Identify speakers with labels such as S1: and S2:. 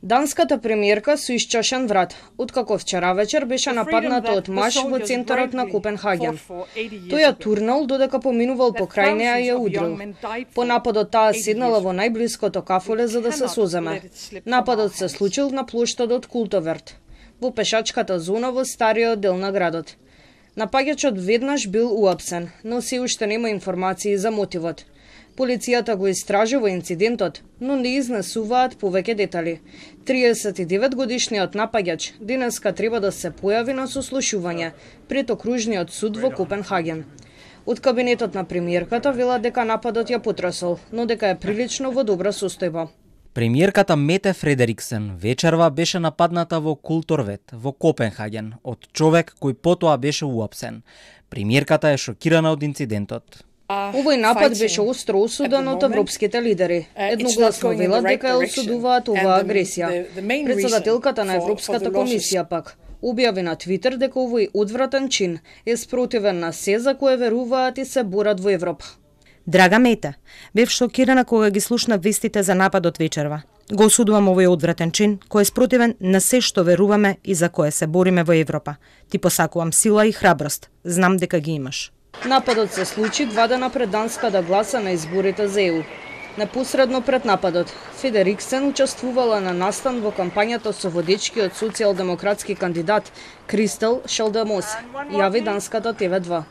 S1: Данската премиерка со исчашен врат, откако вчера вечер беше нападната од маж во центарот на Копенхаген. Тој ја турнал додека поминувал покрај неа и ја удрил. По нападот таа седнала во најблиското кафоле за да се соземе. Нападот се случил на плоштадот Култоверт, во пешачката зона во стариот дел на градот. Напаѓачот веднаш бил уапсен, но се уште нема информации за мотивот. Полицијата го истражува инцидентот, но не изнесуваат повеќе детали. 39-годишниот напаѓач денеска треба да се појави на сослушување пред окружниот суд во Копенхаген. Од кабинетот на премиерката велат дека нападот ја потресол, но дека е прилично во добра состојба.
S2: Премиерката Мете Фредериксен вечерва беше нападната во Култорвет во Копенхаген од човек кој потоа беше уапсен. Премиерката е шокирана од инцидентот.
S1: Овој напад беше остро осуден од европските лидери. Едногласно велат дека ја осудуваат оваа агресија. Председателката на Европската комисија пак објави на Твитер дека овој одвратен чин е спротивен на се за кое веруваат и се борат во Европа.
S3: Драга Мета, бев шокирана кога ги слушнав вестите за нападот вечерва. Го осудувам овој одвратен чин кој е спротивен на се што веруваме и за кое се бориме во Европа. Ти посакувам сила и храброст. Знам дека ги имаш.
S1: Нападот се случи 2 дена пред Данска да гласа на изборите за ЕУ. Непосредно пред нападот, Фредериксен учествувала на настан во кампањата со водечкиот социјалдемократски кандидат Кристел Шалдемосе, јави данската TV2.